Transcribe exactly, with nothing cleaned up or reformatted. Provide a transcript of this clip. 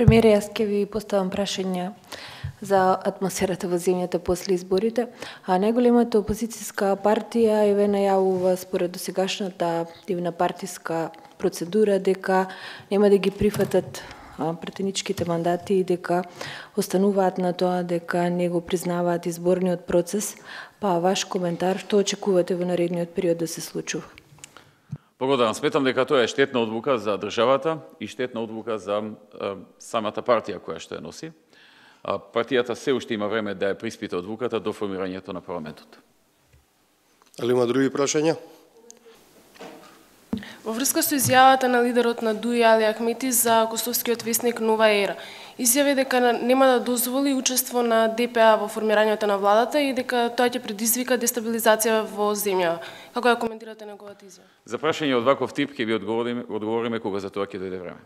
Премиере, јас ќе ви поставам прашање за атмосферата во земјата после изборите. А најголемата опозицијска партија еве најавува според досегашната дивна партиска процедура дека нема да ги прифатат претеничките мандати и дека остануваат на тоа дека не го признаваат изборниот процес. Па ваш коментар, што очекувате во наредниот период да се случува? Благодарам. Сметам дека тоа е штетна одлука за државата и штетна одлука за е, самата партија која што ја носи. А, партијата се уште има време да ја приспита одлуката до формирањето на парламентот. Али има други прашања? Во врска со изјавата на лидерот на ДУИ Али Ахмети за косовскиот весник Нова ера, изјави дека нема да дозволи учество на ДПА во формирањето на владата и дека тоа ќе предизвика дестабилизација во земја. Како ја коментирате неговата изјава? За прашање од ваков тип ќе ви одговориме, одговориме кога за тоа ќе дојде време.